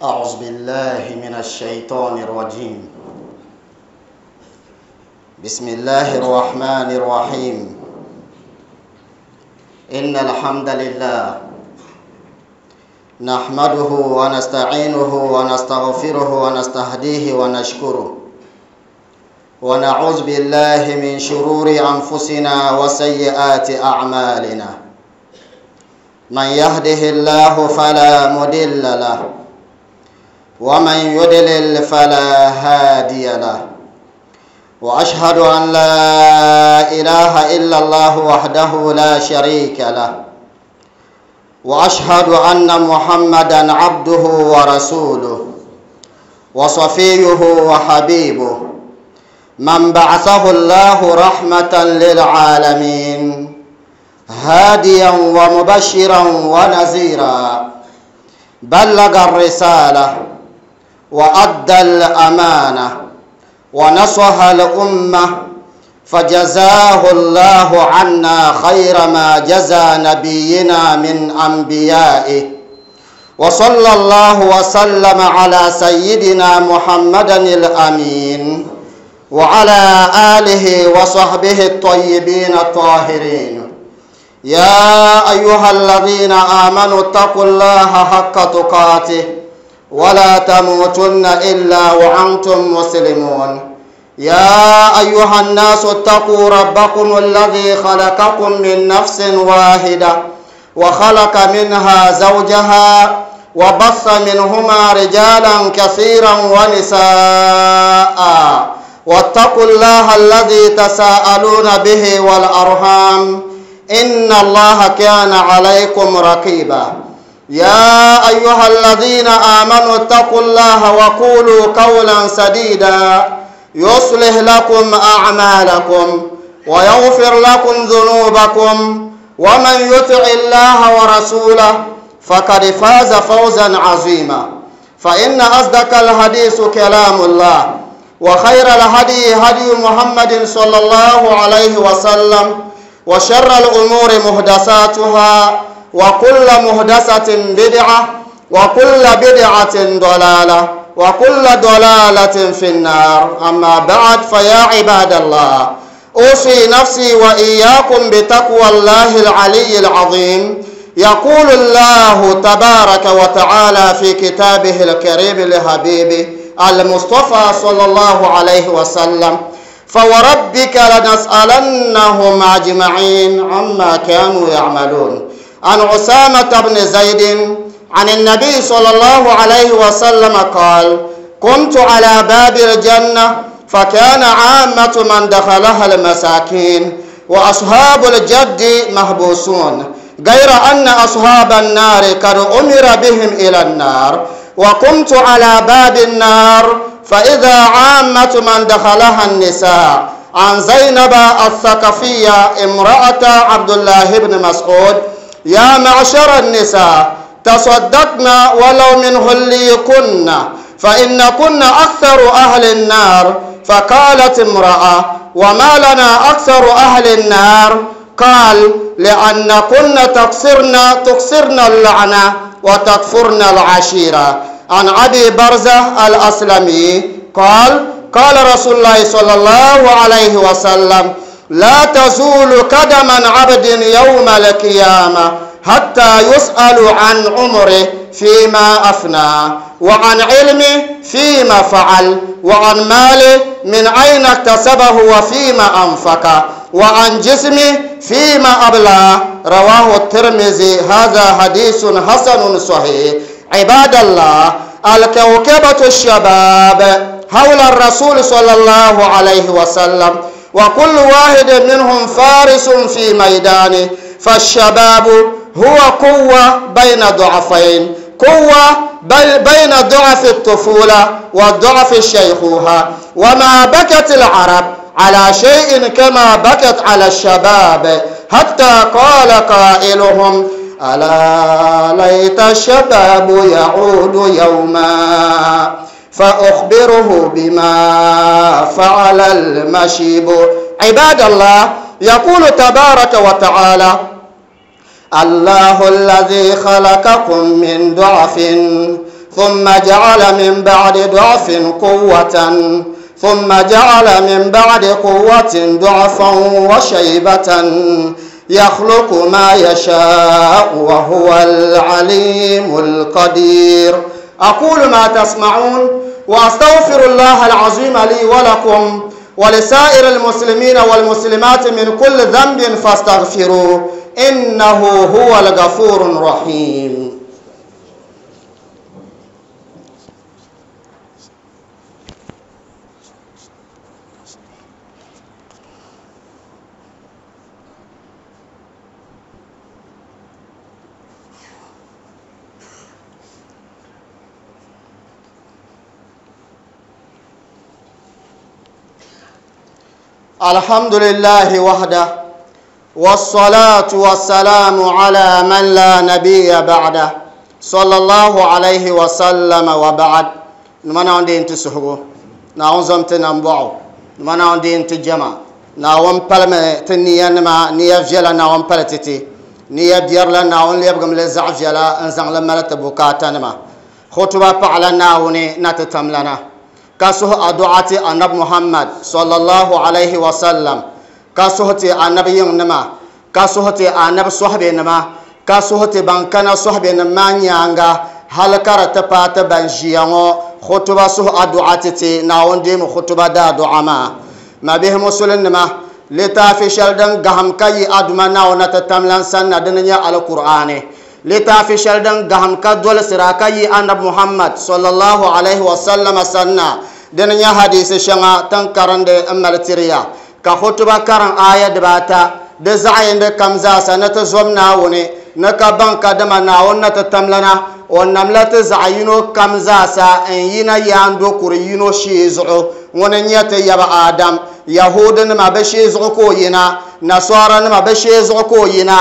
أعوذ بالله من الشيطان الرجيم. بسم الله الرحمن الرحيم. إن الحمد لله نحمده ونستعينه ونستغفره ونستهديه ونشكره، ونعوذ بالله من شرور أنفسنا وسيئات أعمالنا. من يهده الله فلا مضل له، ومن يضلل فلا هادي له. وأشهد أن لا إله إلا الله وحده لا شريك له، وأشهد أن محمدا عبده ورسوله وصفيه وحبيبه، من بعثه الله رحمة للعالمين، هاديا ومبشرا ونذيرا، بلغ الرسالة وأدى الأمانة ونصح الأمة، فجزاه الله عنا خير ما جزى نبينا من أنبيائه، وصلى الله وسلم على سيدنا محمد الأمين وعلى آله وصحبه الطيبين الطاهرين. يا أيها الذين آمنوا اتقوا الله حق تقاته ولا تموتن إلا وأنتم مسلمون. يا أيها الناس اتقوا ربكم الذي خلقكم من نفس واحدة، وخلق منها زوجها، وبث منهما رجالا كثيرا ونساء، واتقوا الله الذي تساءلون به والأرحام، إن الله كان عليكم رقيبا. يا أيها الذين آمنوا اتقوا الله وقولوا قولا سديدا، يصلح لكم أعمالكم ويغفر لكم ذنوبكم، ومن يطع الله ورسوله فقد فاز فوزا عظيما. فإن أصدق الحديث كلام الله، وخير الهدي هدي محمد صلى الله عليه وسلم، وشر الأمور محدثاتها، وكل محدثة بدعة، وكل بدعة ضلالة، وكل ضلالة في النار. أما بعد، فيا عباد الله، أوصي نفسي وإياكم بتقوى الله العلي العظيم. يقول الله تبارك وتعالى في كتابه الكريم لحبيبه المصطفى صلى الله عليه وسلم: فوربك لنسألنهم أجمعين عما كانوا يعملون. عن أسامة بن زيد عن النبي صلى الله عليه وسلم قال: كنت على باب الجنة، فكان عامة من دخلها المساكين، وأصحاب الجد محبوسون، غير أن أصحاب النار قد أمر بهم إلى النار. وقمت على باب النار، فإذا عامة من دخلها النساء. عن زينب الثقفية امرأة عبد الله بن مسعود: يا معشر النساء، تصدقن ولو من هليكن، فإنكن أكثر أهل النار. فقالت امرأة: وما لنا أكثر أهل النار؟ قال: لأنكن تقصرن اللعنة وتكفرن العشيرة. عن أبي برزة الأسلمي قال: قال رسول الله صلى الله عليه وسلم: لا تزول قدم عبد يوم القيامة حتى يسأل عن عمره فيما أفنى، وعن علمه فيما فعل، وعن ماله من أين اكتسبه وفيما أنفق، وعن جسمه فيما أبلى. رواه الترمذي. هذا حديث حسن صحيح. عباد الله، الكوكبة الشباب حول الرسول صلى الله عليه وسلم، وكل واحد منهم فارس في ميدانه. فالشباب هو قوة بين ضعفين، قوة بين ضعف الطفولة وضعف الشيخوخة. وما بكت العرب على شيء كما بكت على الشباب، حتى قال قائلهم: ألا ليت الشباب يعود يوما فأخبره بما فعل المشيب. عباد الله، يقول تبارك وتعالى: الله الذي خلقكم من ضعف ثم جعل من بعد ضعف قوة ثم جعل من بعد قوة ضعفا وشيبة يخلق ما يشاء وهو العليم القدير. أقول ما تسمعون وأستغفر الله العظيم لي ولكم ولسائر المسلمين والمسلمات من كل ذنب فاستغفروه إنه هو الغفور الرحيم. الحمد لله وحده، والصلاة والسلام على من لا نبي بعده صلى الله عليه وسلم وبعد. نمنا عندي تسحبو نعوزم تنبعو نمنا عندي تجمع نعوم بلم تنيا نما نيا فيلا نعوم بلتتي نيا بيرلا نعوم ليبقم لزع فيلا انزع لما لتبوكاتا نما خطبة بعلا نعوني نتتملنا كسوه أدعاتي النبي محمد صلى الله عليه وسلم كسوهتي النبي نما كسوهتي النبي صحبه نما كسوهتي بانكنا صحبه نما نيانغا هل كرت بات بنجيانو خطبة سوه أدعاتي ناون ديم خطبة دا دعما ما به مسلم نما لتافي شلدن غهم كي أدما ناون تتملن سنة دنيا على القرآن لتافي شلدن غهم كدول سراكي النبي محمد صلى الله عليه وسلم سنة دنيا حديث شنا تنكرن دي أمالتريا كخطبة كرن آية دباتا دزعين دي كمزا سنة زوم ناوني نكبان كدما ناون نتتملنا ونملت زعينو كمزا سا إن ينا ياندو كورينو شيزعو وننيت يبا آدم يهود نما بشيزعو كوينا نصارى نما بشيزعو كوينا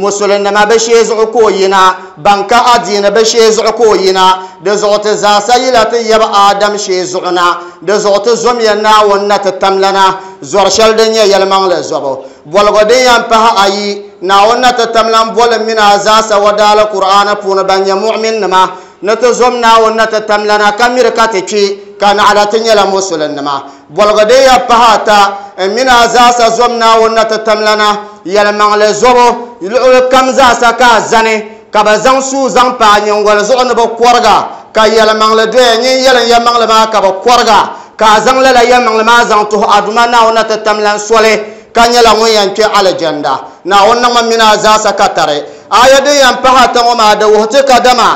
مسلم نما بشيزعو كوينا بانكا أدين بشيزعو كوينا دزعت زاسيلة يبا آدم شيزعنا دزعت زمينا ونتتملنا زور دنيا يلمان لزبو بولغدين ينبها أي ناونا تتملن بول من أزاس ودال القرآن فون بني مؤمن نما نتزمنا ونتتملنا كمير كاتشي كان على تنيلا مسلم نما بولغدين ينبها تا من أزاس زمنا ونتتملنا يلمان لزبو يلعب كم زاسا كازني كبزان سوزان بانيون ولزون بقورغا كيلمان لدين يلن يمان لما كبقورغا كازان لا يمان لما زان تو أدمنا ونتتملن سولي كان يلا وين كي على جندا ناون من أزاسا كتري آية دي ينبها تماما دوهتك دما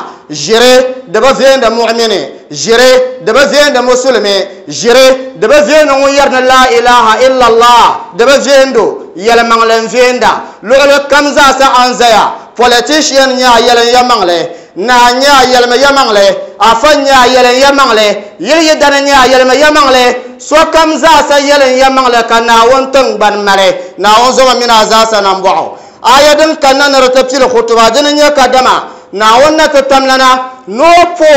جري دبزين مؤمني جري دبزين مسلمي جري دبزين ويرن لا إله إلا الله دبزين دو يلمان لنزين دا لغلو كمزا سأنزيا politician nya yelen yamangle na nya yelma yamangle afa nya yelen yamangle yeli yedana nya yelma yamangle so kamza sa yelen yamangle kana won tan ban mare na won zoma mina za sa nan bo ayadin kanna na tafsir khutba din nya kadama na wonna tatamlana no po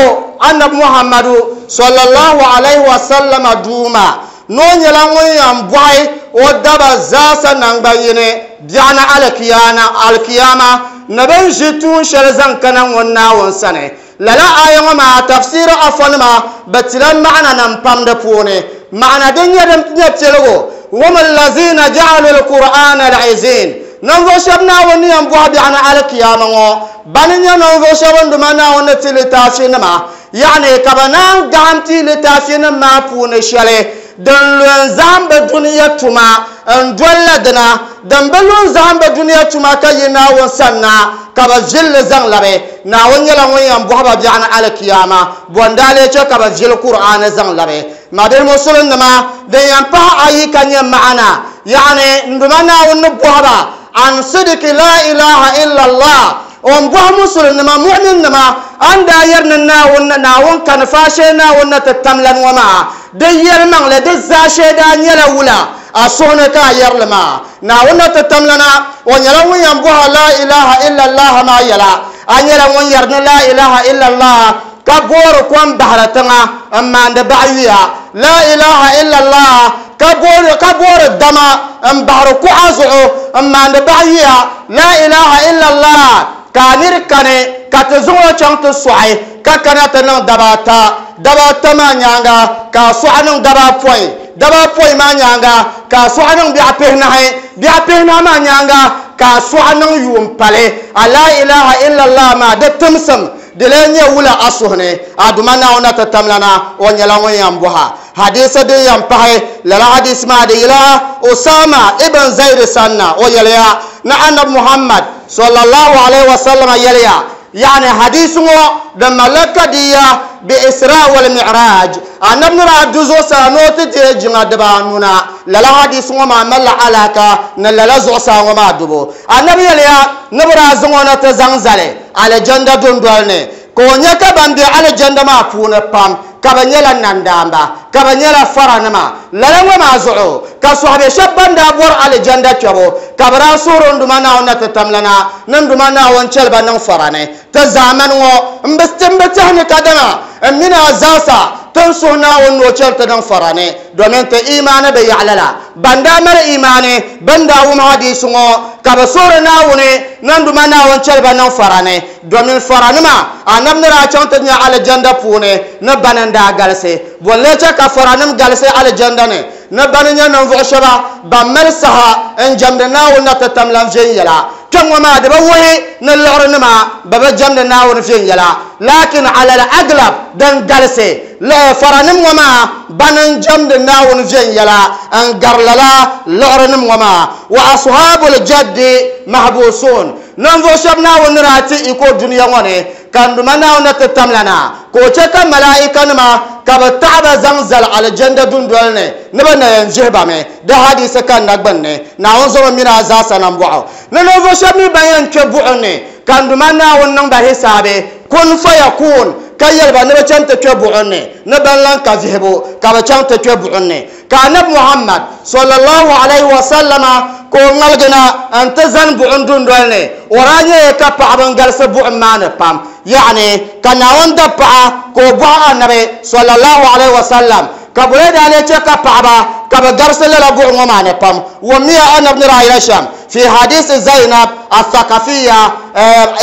annab muhammadu sallallahu alaihi wasallam duma no nyela ngon yam boy o daba za sa nan bayine biana alkiyana alkiyama naban jitu shalzan kana wonna won sane lala ayan ma tafsir afan ma batilan ma'ana nan pam da pone ma'ana din yadam tinyatelo wama allazina ja'alu alqur'ana al'izin nan zo shabna woni yan bo biana alkiyama ngo banin ya nan zo shaban duma na wonna tilitafi ma yani kabanan gamti litafi ma pone shale dan lon zamba duniya tuma an dolla dana dan balon zamba duniya tuma kayina won sanna kaba jil zang labe na won yala won yan bo ba biana alkiyama bondale che kaba jil qur'ana zang labe madal musulun ma dan yan pa ayi kanya ma'ana yani nduma na won bo ba an sidiki la ilaha illa allah on bo musulun ma mu'min ma an da yarna na won na won kan fashe na won tatamlan wa ma da yelman le da zashe da nyala wula asona ka yarlama na wonna tatamlana wa nyala won yan bo la ilaha illa allah ma yala anyala won yarna la ilaha illa allah ka boro kwam bahratanga amma da ba'iya la ilaha illa allah ka boro dama am bahru ku azu amma da ba'iya la ilaha illa allah kanir kane ka te zuŋo chaŋ ti sɔɣi Ka kana ti niŋ dabaata. Dabaata maa nyaaŋa ka a sɔɣi niŋ dabaapɔin. Dabaapɔin maa nyaaŋa ka a sɔɣi niŋ biɛɣu pihinahi. Biɛɣu pihinahi maa nyaaŋa ka a sɔɣi niŋ yuun pali. A laa ilaha illallah maa di timsim di lee nyɛ wula a suhu ni? A Duuma Naawuni na ti tamlana, o nyɛla ŋun yɛn bɔha. Hadiisi din yɛn pahi lala hadiisi maa di yila Usama ibn Zaid sanna, o yɛliya ni Anabi Muhammad sallallahu alaihi wasallam yɛliya, yaani hadiisi ŋɔ din malila kadiya bi Isra wal Mi'raj, Anabi ni daa du zuɣusaa ni o ti deei jiŋa dibaanu na, lala hadiisi ŋɔ maa malila alaka ni lala zuɣusaa ŋɔ maa dubu. Anabi yɛliya ni bɛ daa zaŋ o na ti zaŋ zali alijanda dundoli ni, ka o nya ka ban be alijanda maa puuni pam ka bɛ nyɛla nandaamba, ka bɛ nyɛla faranima. Lala ŋɔ maa zuɣu ka sɔhibe shɛba ban daa bɔri alijanda kpɛbu, ka bɛ daa suhiri n Duuma Naawuni na ti tamlana ni n Duuma Naawuni chɛli ba niŋ fara ni. Ti zaamani ŋɔ m-bi ti m-bi tɛhi ni kadama m mini a zaasa ti ni suhi Naawuni ni o chɛli ti niŋ fara ni, domin ti imaani bi yaɣi lala. Ban daa mali imaani bɛn daa wum hadiisi ŋɔ ka bɛ suhiri Naawuni ni n Duuma Naawuni chɛli ba niŋ fara ni, domin faranima Anabi ni daa chaŋ ti nya alijanda puuni ni bani n-daa galisi. Bɔ n-lee chɛ ka faranim galisi alijanda ni? Ni bani nyɛ ninvuɣ shɛba ban mali saha n-jɛmdi Naawuni na ti tam lan viɛnyɛla. Kpɛŋŋɔ maa di bi wuhi ni liɣirinima bɛ bi jɛmdi Naawuni viɛnyɛla, laakin alal aglab din galisi faranim ŋɔ maa bani n-jɛmdi Naawuni viɛnyɛla n-gari lala liɣirinim ŋɔ maa. Wa ashabul jaddi mahbusun, ninvuɣ shɛba Naawuni ni daa ti iko dunia ŋɔ ni ka n Duuma Naawuni na ti tam la na, ka o chɛ ka malaikanima ka bɛ taɣi ba zaŋ zali alijanda dundoli ni ni bɛ na yɛn vihi ba mi. Di hadiisi kanna gbunni, Naawuni zomi mini a zaasa nambɔɣu ni ninvuɣ shɛba mi ban yɛn kpe buɣim ni ka n Duuma Naawuni niŋ ba hisaabi, kun fayakun, ka yɛli ba ni bɛ chaŋ ti kpe buɣim ni, ni ban lan ka vihibu ka bɛ chaŋ ti kpe buɣim ni. Ka Anabi Muhammad sallallahu alaihi wasallama ka o ŋmaligi na n-ti zani buɣim dundoli ni, o daa nyɛla ka paɣaba n-galisi buɣim maa ni pam. Yaani ka Naawuni dab paɣa ka o bɔhi Anabi sallallahu alaihi wasallam, ka bɔle daa lee chɛ ka paɣaba ka bɛ garisi lala buɣim ŋɔ maa ni pam? Wummiya Anabi ni daa yɛli shɛm fi hadisi Zainab al-Thaqafiya,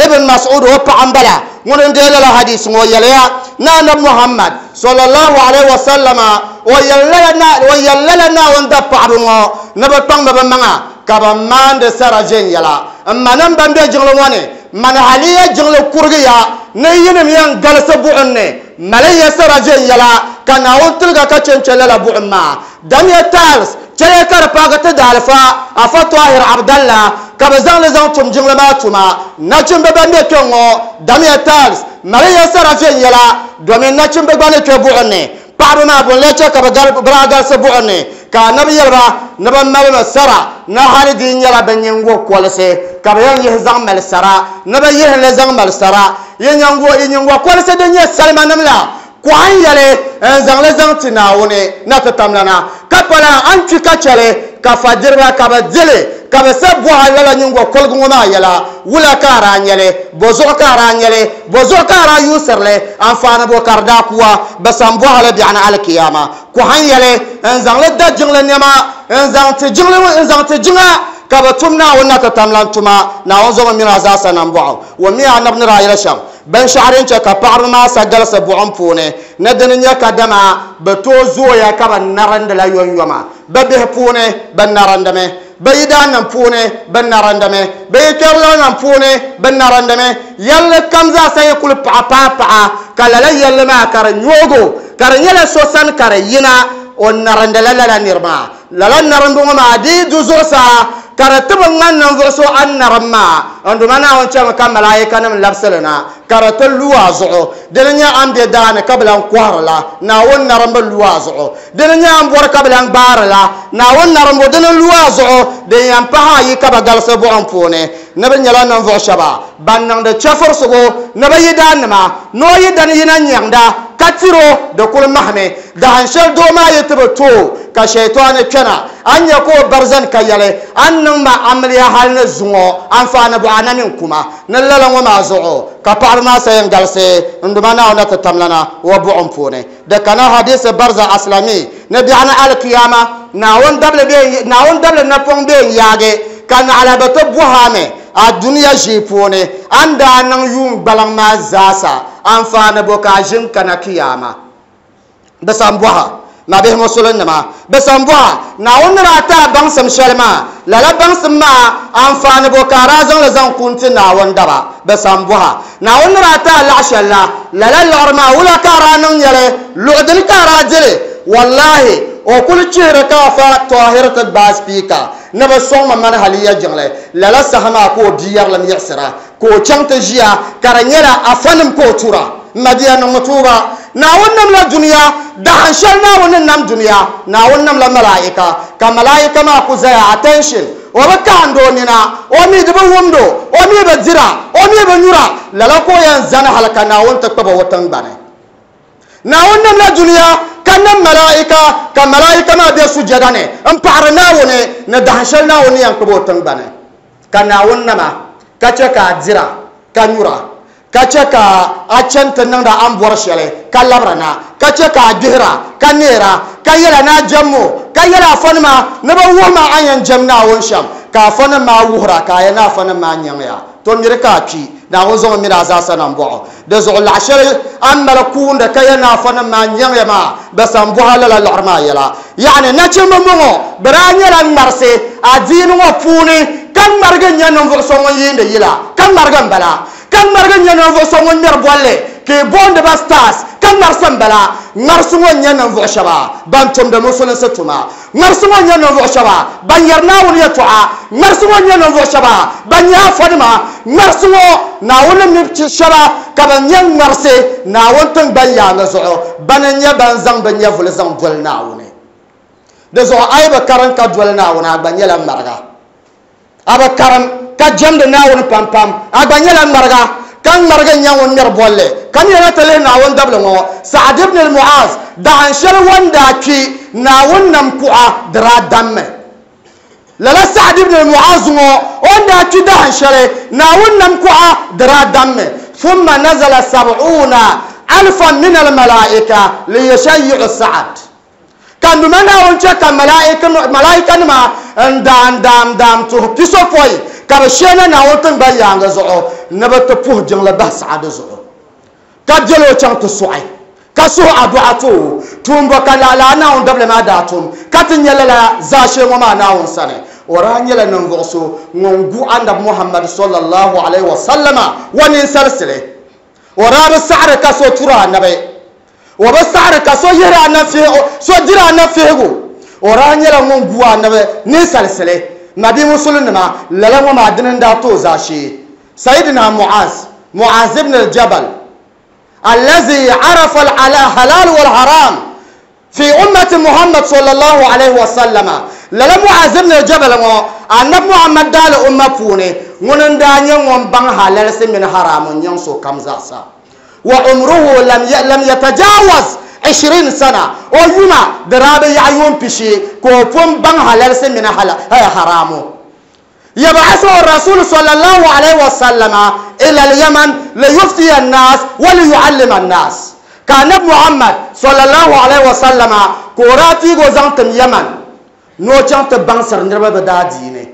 Ibn Mas'ud o paɣa m-bala, ŋuni n-deei lala hadisi ŋɔ, o yɛliya ni Anabi Muhammad sallallahu alaihi wasallama o yɛli lala Naawuni dab paɣaba ŋɔ ni bɛ kpaŋmi bɛ maŋa ka bɛ maandi sara viɛnyɛla. M manim ban be jiŋli ŋɔ ni, mani haliya jiŋli kurigiya ni yinim yɛn galisi buɣim ni, mali ya sara viɛnyɛla ka Naawuni tiliga ka chɛ n-chɛ lala buɣim maa. Damiya tiles, chɛliya ka di paagi ti daalifa Afa Tahir Abdallah ka bɛ zaŋ li zaŋ tum jiŋli maa tuma. Nachimba ban be kpɛŋ ŋɔ, damiya tiles, mali ya sara viɛnyɛla domin nachimba gba ni kpe buɣim ni. Paɣaba maa bɔ n-lee chɛ ka bɛ daa galisi buɣim ni? Ka Anabi yɛli ba ni bɛ malimi sara ni hali di yi nyɛla bɛ nyiŋgokolisi ka bɛ yɛn yihi zaŋ mali sara, ni bɛ yihi li zaŋ mali sara. Yi nyiŋgokolisi din nyɛ salimanim la, kɔhi n-yɛli n-zaŋ li zaŋ ti Naawuni na ti tamlana, ka pala a ni kpi ka chɛ li, ka fadiriba ka bɛ di li, ka bɛ sa bɔhi a lala nyiŋgokoligu ŋɔ maa yɛla, wula ka a daa nya li? Bɔzuɣu ka a daa nya li? Bɔzuɣu ka a daa yuusiri li? Anfaani bɔ ka di daa ku a? Bɛ sa m-bɔhi li biɛɣuni alikiyama. Kɔhi n-yɛli n-zaŋ li da jiŋli nɛma, n-zaŋ ti jiŋli, n-zaŋ ti jiŋa, ka bɛ tum Naawuni na ti tamlan tuma. Naawuni zomi mini a zaasa nambɔɣu. Wummiya Anabi ni daa yɛli shɛm. Binshɛɣu din chɛ ka paɣaba maa sa galisi buɣim puuni ni dini nyɛ kadama bɛ tooi zooya ka bɛ narindila yomyoma. Bɛ bihi puuni bɛ narindimi, bɛ yidaannim puuni bɛ narindimi, bɛ yikpɛrilanim puuni bɛ narindimi. Yɛlli kam zaa sa yi kuli paɣa paai paɣa, ka lala yɛlli maa ka di nyoogo, ka di nyɛla so sani ka di yina, o narindila lala niri maa. Lala narimbu ŋɔ maa di yi du zuɣusaa ka di ti bi ŋmani ninvuɣ so a ni narim maa, n Duuma Naawuni chɛmi ka malaikanim labisi li na ka di ti lu a zuɣu. Dini n-nyɛ a ni be daa ni ka bi lan kɔhiri la, Naawuni narimbu lu a zuɣu. Dini n-nyɛ a ni bɔri ka bi lan gbaari la, Naawuni narimbu dini lu a zuɣu. Din yɛn pahi ayi ka bɛ galisi buɣim puuni ni bɛ nyɛla ninvuɣ shɛba ban niŋdi chɛfurisigu ni bɛ yidaannima, ni o yidana yina nyaŋda ka tir o, di kul mahimi. Dahin shɛli doo maa yi ti bi tooi ka shɛitɔni kpɛna, a ni nya ka o bari zani ka yɛli, A ni niŋ ma amiliya hal ni zuŋɔ, anfaani bɔɣa a na mini kuma. Ni lala ŋɔ maa zuɣu ka paɣiba maa sa yɛn galisi n Duuma Naawuni na ti tamlana o buɣim puuni. Di kana hadisi Barza Aslami ni biɛɣuni alikiyama, Naawuni dabili bee Naawuni dabili napɔŋ bee n-yaagi ka naɣila bɛ ti bɔhi a mi a dunia ʒii puuni a ni daa niŋ yuun gbaliŋ maa zaasa. Anfaani bo ka a ʒini kana kiyaama? Bɛ san bɔha, Mabihi Musulinnima, bɛ san bɔha, Naawuni ni daa ti a baŋsim shɛli maa, lala baŋsim maa anfaani bo ka a daa zaŋ li zaŋ ku n-ti Naawuni daba? Bɛ san bɔha, Naawuni ni daa ti a laɣ shɛli la, lala liɣiri maa wula ka a daa niŋ nya li? Luɣ dini ka a daa di li? Wallahi, o kul chihiri ka Afa Tɔhir ti gbaai spiika ni bɛ sɔŋ ma mani haliya jiŋli. Lala saha maa ka o bia yɛrilim yiɣisira, ka o chaŋ ti ʒiya ka di nyɛla afanim ka o tura. M mabia, niŋmi tuuba. Naawuni namla dunia, dahin shɛli Naawuni ni nam dunia, Naawuni namla malaika, ka malaika maa ku zaya, attention, o bi kahindi o nina, o mi di bi wumd o, o mi bi dira, o mi bi nyura, lala ka o yɛn zani hali ka Naawuni ti kpab o o tiŋgbani. Naawuni namla dunia ka nam malaika, ka malaika maa be sujada ni m-paɣiri Naawuni ni dahin shɛli Naawuni ni yɛn kpab o tiŋgbani. Ka Naawuni nama, ka chɛ ka a dira ka nyura, ka chɛ ka a chani ti niŋdi a ni bɔri shɛli ka labira na, ka chɛ ka a gbihira ka neera, ka yɛla ni a jɛm o, ka yɛli afanima ni bɛ wuhi ma a ni yɛn jɛm Naawuni shɛm, ka afanim maa wuhir a, ka a yɛli ni afanim maa nyaŋya. To miri ka a kpi, Naawuni zaŋ o mini a zaasa na m-bɔh o. Di zuɣu laɣ shɛli a ni mali kuundi ka yɛli ni afanim maa nyaŋya maa, bɛ san bɔh a lala liɣiri maa yɛla. Yaɣini, nachimba m-bɔŋɔ, bɛ daa nyɛla ŋmarisi adiini ŋɔ puuni, ka ŋmarigi n-nyɛ ninvuɣ so ŋun yiindi yila, ka ŋmarigi m-bala, ka ŋmarigi n-nyɛ ninvuɣ so ŋun ŋmɛri bolli, ka yi booni ba stars, ka ŋmarisi m-bala. Ŋmarisi ŋɔ n-nyɛ ninvuɣ shɛba ban tumdi musulinsi tuma. Ŋmarisi ŋɔ n-nyɛ ninvuɣ shɛba ban yɛri Naawuni yɛtɔɣa. Ŋmarisi ŋɔ n-nyɛ ninvuɣ shɛba ban nyɛ afanima. Ŋmarisi ŋɔ, Naawuni ni mi shɛba ka bɛ nyɛ ŋmarisi Naawuni tiŋgbani yaaŋa zuɣu. Bana n-nyɛ ban zaŋ bɛ nyɛvuli zaŋ doli Naawuni. Di zuɣu a yi bi karim ka doli Naawuni, a gba nyɛla ŋmariga. A bi karim ka jɛmdi Naawuni pampam, a gba nyɛla ŋmariga, ka ŋmarigi n-nyɛ ŋun ŋmɛri bolli. Kamiyana ti lihi Naawuni dabili ŋɔ, Sa'ad ibn al-Mu'az, dahin shɛli o ni daa kpi, Naawuni nam kuɣa di daa dammi. Lala Sa'ad ibn al-Mu'az ŋɔ, o ni daa kpi dahin shɛli, Naawuni nam kuɣa di daa dammi. Thumma nazala sab'una alfan min al-mala'ika liyushayyi'u Sa'ad. Ka n Duuma Naawuni chɛ ka malaikanima n-daam daam daam tuhi pisopɔin ka bɛ shee na Naawuni tiŋgbani yaaŋa zuɣu ni bɛ ti puhi jiŋli bahi saɣa di zuɣu, ka beli o chaŋ ti sɔɣi, ka suhi adu'a ti o. Tuumbo ka lala Naawuni dabili maa daa tum, ka ti nya lala zaashee ŋɔ maa Naawuni sani. O daa nyɛla ninvuɣ so ŋun gu Anabi Muhammad sallallahu alaihi wasallama wa ninsalisili. O daa bi saɣiri ka so turi Anabi. O bi saɣiri ka so yihiri anabi so diri anabi fihigu. O daa nyɛla ŋun gu anabi ninsalisili. Nabi Musulinima, lala ŋɔ maa dini n-daa ti o zaashee. Sayyidina Mu'az, Mu'az ibn al-Jabal, allazi arafa al-halal wal-haram fi ummati Muhammad sallallahu alayhi wa sallama. Lala Mu'az ibn al-Jabal ŋɔ, anabi Muhammad daali umma puuni, ŋuni n-daa nyɛ ŋun baŋ halalisi mini haramu n-nyaŋ sokam zaasa. Wa umruhu lam yatajawaz ishirin sana, o yuma di daa bi yaɣi yuun pishi ka o pun baŋ halalisi mini haramu. Yab'athuhu ar-rasul sallallahu alayhi wa sallama ila al-Yaman liyuftiya an-nas wa liyu'allima an-nas. Ka Anabi Muhammad sallallahu alayhi wa sallama ka o daa piigi o zaŋ tim Yaman ni o chaŋ ti baŋsiri niriba bɛ daadiini.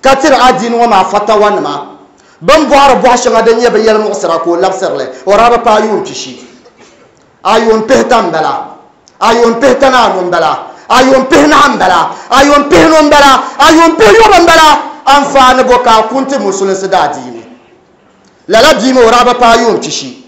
Ka tiri adiini ŋɔ maa fatawanima, bɛ ni bɔhiri bɔhi shɛŋa din nyɛ bɛ yɛlimuɣisira ka o labisiri li, o daa bi paai yuun pishi. A yuun pihita m-bala, a yuun pihita ni anu m-bala, a yuun pihinahi m-bala, a yuun pihinu m-bala, a yuun pihiyɔbu m-bala, anfaani bɔ ka a ku n-ti musulinsi daadiini? Lala bia maa o daa bi paai yuun pishi.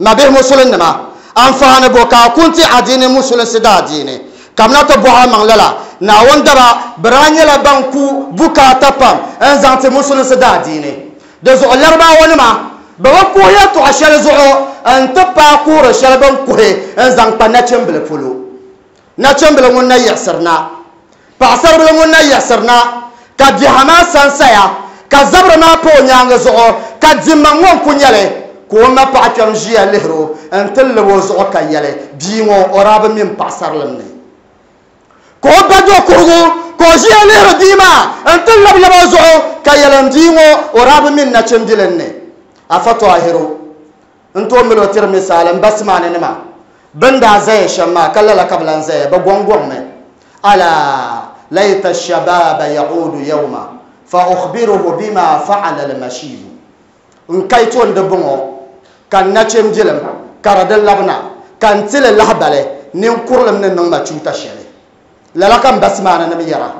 Mabihi Musulinnima, anfaani bo ka a ku n-ti adiini Musulinsi daadiini? Kamina ti bɔhi a maŋ lala. Naawuni daba, bɛ daa nyɛla ban ku bukaata pam n-zaŋ ti Musulinsi daadiini. Di zuɣu Laribawanima, bɛ bi kuhi yɛltɔɣa shɛli zuɣu n-ti paai kuhiri shɛli bɛ ni kuhi n-zaŋ kpa nachimbili polo. Nachimbili ŋun na yiɣisiri na, paɣisaribila ŋun na yiɣisiri na, ka biɛha maa sansaya, ka zabiri maa pa o nyaaŋa zuɣu, ka dimma ŋɔ n-ku nya li, ka o ma paɣa kpɛm ʒiya lihir o nti lib o zuɣu ka yɛli, Bia ŋɔ, o daa bi mi m paɣisarilim ni. Ka o ba do kuhigu, ka o ʒiya lihiri bia maa nti lab lab o zuɣu ka yɛli, M bia ŋɔ, o daa bi mi n nachimbilim ni. Afa Tɔhiru n-tooi mali o tiri misaali m ba Simaani nima Bɛ ni daa zaya shɛm maa, ka lala ka bɛ lan zaya, bɛ gɔŋgɔŋmi. Alaa layta shababa ya'udu yawma fa ukhbiruhu bima fa'ala al-mashibu. N kaito n-di bɔŋɔ, Ka n nachimbilim ka di di labina, ka n ti li lahibali ninkurilim ni niŋ ma chuuta shɛli. Lala ka m ba Simaananim yɛra.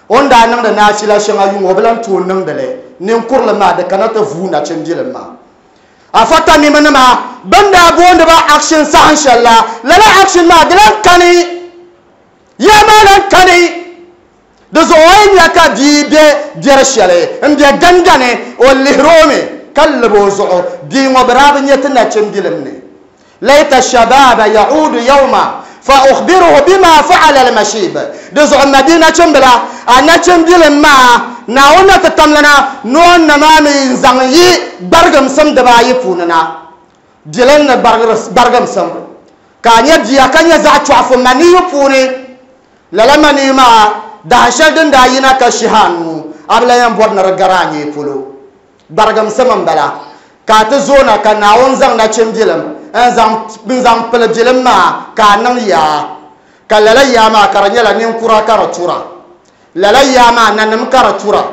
O ni daa niŋdi naachila shɛŋa yuŋ o bi lan tooi niŋdi li, ninkurilim maa di kana ti vuui nachimbilim maa. Afa Tamiminima bɛn daa booni ba action saha shɛli la, lala action maa di lan kani, yaa maa lan kani. Di zuɣu o yi nya ka bia be biɛri shɛli m-be gangani, o lihiri o mi ka lib o zuɣu. Bia ŋɔ bɛ daa bi nya ti nachimbilim ni. Laita shabaaba yaudu yawma fa ukhbiruhu bima fa'ala al-mashib. Di zuɣu m mabia nachimbila, a nachimbilim maa Naawuni na ti tamlana ni o ni maa mi n-zaŋ yi gbarigimsim dibaayi puuni na. Bilim ni gbarigimsim, ka a nya bia ka nya zaɣ chɔɣifu maniyu puuni. Lala maniyu maa dahin shɛli din daa yina ka shihi a nuu, a bi lan yɛn bɔri ni di gari a nyee polo. Gbarigimsim m-bala, ka a ti zoona ka Naawuni zaŋ nachimbilim n-zaŋ pili bilim maa ka a niŋ yaa. Ka lala yaa maa ka di nyɛla ninkura ka di tura. Lala yaa maa nanim ka di tura.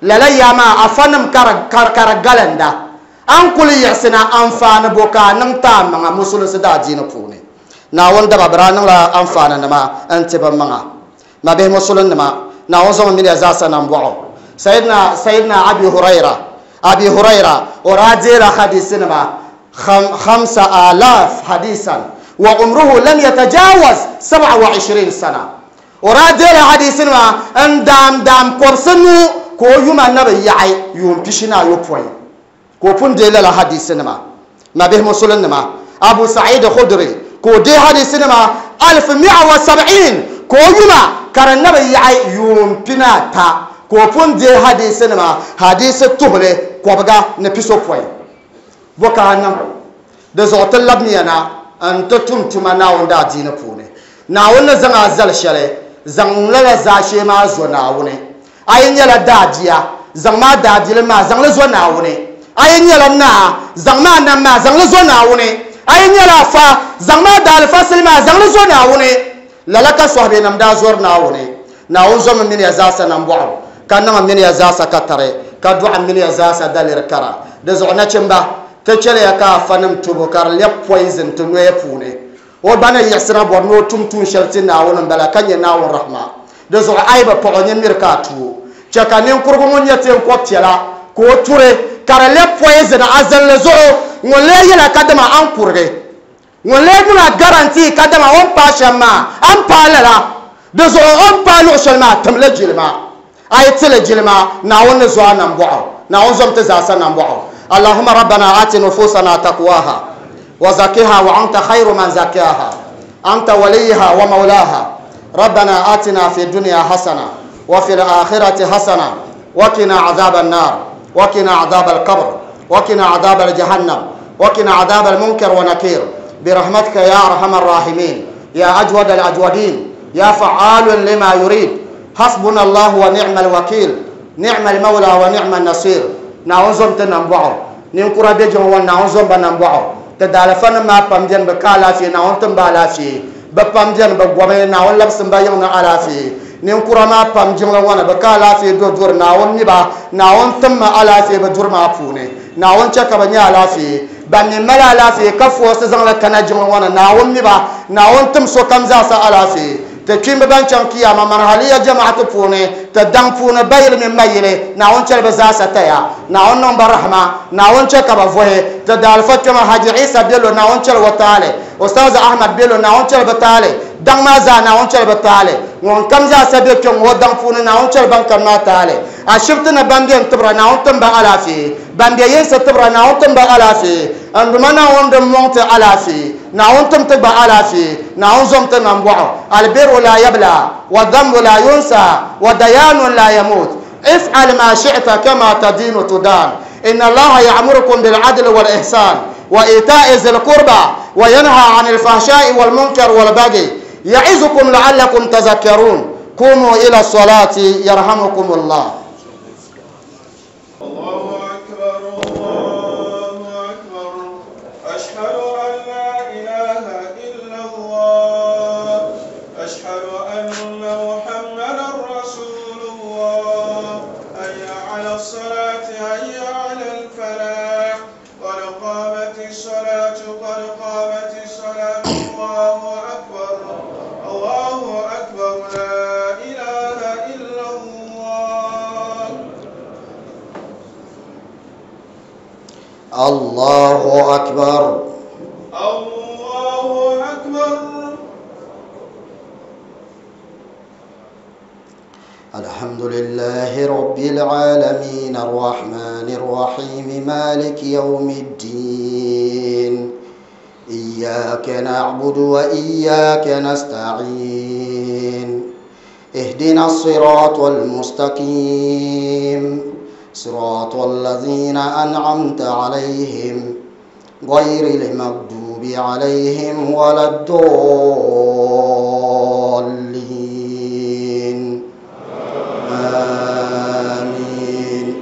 Lala yaa maa afanim ka di galinda. A ni kuli yiɣisina anfaani bo ka a niŋ ti a maŋa Musulinsi daadiini puuni. Naawuni daba bɛ daa niŋla anfaaninima n-ti bɛ maŋa. Mabihi Musulinnima, Naawuni zaŋ mini ya zaasa nambɔɣu. Sayyidina, Sayyidina Abi Huraira, Abi Huraira, o daa deela hadisinima khamsa alaf hadisan wa umruhu lam yatajawaz sab'a wa ishirin sana. O daa deela hadisinima n daam daam kɔbisi nu ka o yuma na bi yaɣi yuun pishi ni ayopɔin. Ka o pun deei lala hadisinima. Mabihi Musulinnima, Abu Sa'id Khudri, ka o deei hadisinima alif mi'a wa sab'in, ka o yuma ka di na bi yaɣi yuun pinaata, ka o pun deei hadisinima hadisi tuhili kɔbiga ni pisopɔin. Bɔ ka a niŋ? Di zuɣu ti labimiya na n-ti tum tuma Naawuni daadiini puuni. Naawuni ni zaŋ a zali shɛli, zaŋm lala zaashee maa zo Naawuni. A yi nyɛla daabia, zaŋm a daabilim maa zaŋ li zo Naawuni. A yi nyɛla naa, zaŋm a nam maa zaŋ li zo Naawuni. A yi nyɛla afa, zaŋm a daalifasili maa zaŋ li zo Naawuni. Lala ka sɔhibenim daa zɔri Naawuni. Naawuni zomi mini ya zaasa nambɔɣu, ka niŋ m mini ya zaasa katari, ka dɔɣi m mini ya zaasa daliri kara. Di zuɣu nachimba, ti chɛliya ka afanim tubu ka di lɛbi poison ti noya puuni. O gba ni yiɣisina bɔri ni o tum tuun shɛli ti Naawuni m-bala ka nya Naawuni rahima. Di zuɣu a yi bi paɣ o nini miri ka a tu o. Chɛ ka ninkurigu ŋun nyɛ teenkɔb piɛla ka o turi, ka di lɛbi poison a zinli zuɣu. Ŋun lee yɛla kadama a ni kurigi. Ŋun lee niŋ a guarantee kadama o ni paai shɛm maa, a ni paai lala. Di zuɣu o ni paai luɣ shɛli maa, tim li jilima. A yi ti li jilima, Naawuni ni zo a nambɔɣu. Naawuni zom ti zaasa nambɔɣu. Allahumma rabbana aati nufusana taqwaha wa zakiha wa anta khayru man zakaha anta waliyiha wa mawlaha rabbana atina fi dunya hasana wa fil akhirati hasana wa qina adhaban nar wa qina adhabal qabr wa qina adhabal jahannam wa qina adhabal munkar wa nakir برحمتك يا أرحم الراحمين يا أجود الأجودين يا فعال لما يريد حسبنا الله ونعم الوكيل نعم المولى ونعم النصير. Naawuni zom ti nambɔɣu. Ninkura be jiŋ ŋɔ ni, Naawuni zom ba nambɔɣu. Ti daalifanim maa pam beni bɛ ka alaafee, Naawuni tim ba alaafee. Bɛ pam beni bɛ gɔmi, Naawuni labsim ba yiŋ ni alaafee. Ninkura maa pam jiŋli ŋɔ ni bɛ ka alaafee do duri, Naawuni mi ba, Naawuni tim ma alaafee bɛ duri maa puuni. Naawuni chɛ ka bɛ nya alaafee. Ban mi mali alaafee ka foosi zaŋ li kana jiŋli ŋɔ ni, Naawuni mi ba, Naawuni tim sokam zaasa alaafee. Ti kpiimba ban chaŋ kiyama manhaliya jama'ati puuni, ti daŋ puuni bayili mini mayili, Naawuni chɛli bɛ zaasa taya. Naawuni niŋ ba rahima, Naawuni chɛ ka bɛ vuhi. Ti daalifa kpɛma Haji Isa Bello, Naawuni chɛli o taali. Ustaz Ahmad Bello, Naawuni chɛli bɛ taali. Daŋ maa zaa, Naawuni chɛli bɛ taali. Ŋun kam zaasa be kpɛŋ ŋɔ daŋ puuni, Naawuni chɛli ban kani maa taali. Ashibiti ni ban beni tibira, Naawuni tim ba alaafee. Ban be yinsi tibira, Naawuni tim ba alaafee. N Duuma Naawuni din mɔŋ ti alaafee, Naawuni tim ti gba alaafee, Naawuni zom ti nambɔɣu. Albiru la yabla, wa dhanbu la yunsa, wa dayanun la yamut. If'al ma shi'ta kama tadinu tudan. Inna Allaha ya'murukum bil adli wal ihsan, wa ita'i zil qurba, wa yanha 'anil fahsha'i wal munkar wal baghi. Ya'izukum la'allakum tazakkarun. Qumu ila salati yarhamukumullah. Allahu akbar, Allahu akbar. Ashhadu an la ilaha illa Allah. Ashhadu anna Muhammadan Rasulullah. Hayya ala salati, hayya ala al-falah. Qad qamati salat. الله أكبر. الله أكبر. الحمد لله رب العالمين الرحمن الرحيم مالك يوم الدين إياك نعبد وإياك نستعين اهدنا الصراط المستقيم صراط الذين أنعمت عليهم غير المغضوب عليهم ولا الضالين. آمين.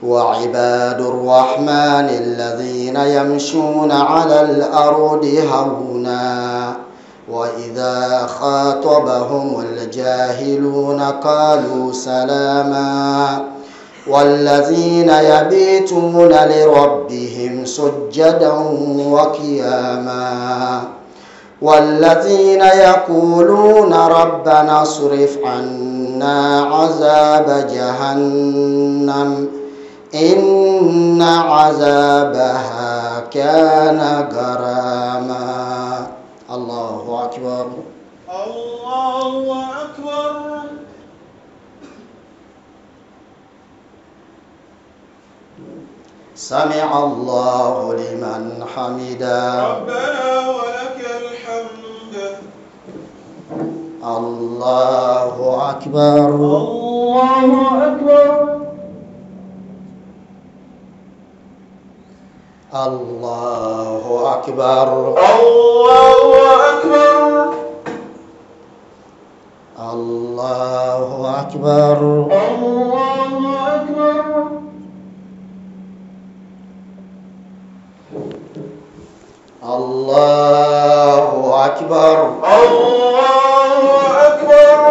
وعباد الرحمن الذين يمشون على الأرض هونا وإذا خاطبهم الجاهلون قالوا سلاما والذين يبيتون لربهم سجدا وقياما والذين يقولون ربنا اصرف عنا عذاب جهنم إن عذابها كان غراما. الله أكبر. الله أكبر. سمع الله لمن حمده. ربنا ولك الحمد. الله أكبر. الله أكبر. الله أكبر. الله أكبر. الله أكبر. الله أكبر. الله أكبر. الله أكبر.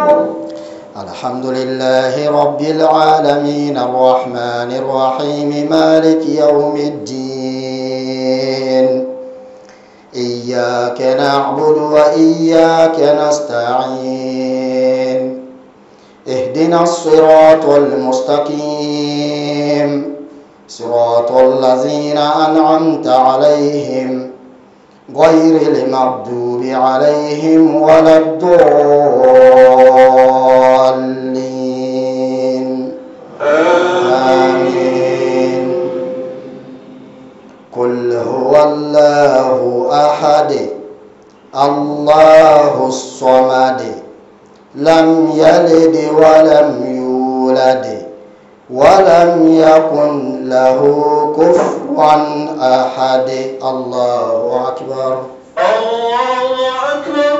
الحمد لله رب العالمين الرحمن الرحيم مالك يوم الدين إياك نعبد وإياك نستعين اهدنا الصراط المستقيم صراط الذين أنعمت عليهم غير المغضوب عليهم ولا الضالين. آمين. قل هو الله أحد الله الصمد لم يلد ولم يولد ولم يكن له كفوا أحد. الله أكبر. الله أكبر.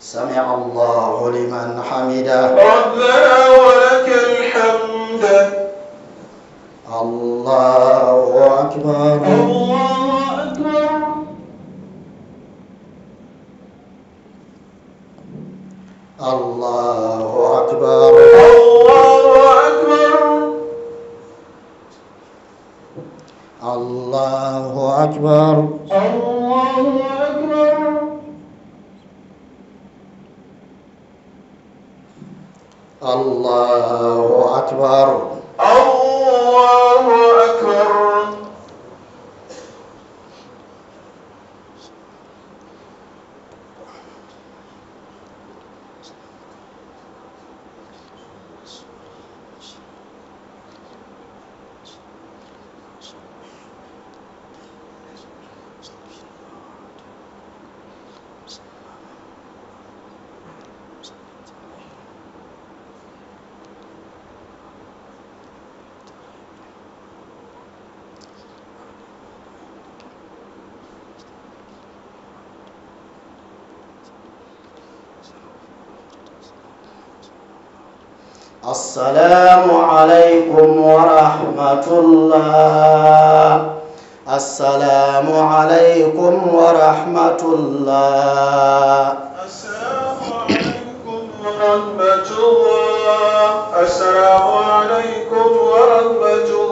سمع الله لمن حمده. ربنا ولك الحمد. الله أكبر. الله أكبر. الله أكبر. الله أكبر. الله أكبر. الله أكبر. الله أكبر. الله أكبر. السلام عليكم ورحمة الله. السلام عليكم ورحمة الله. السلام عليكم ورحمة الله. السلام عليكم ورحمة الله.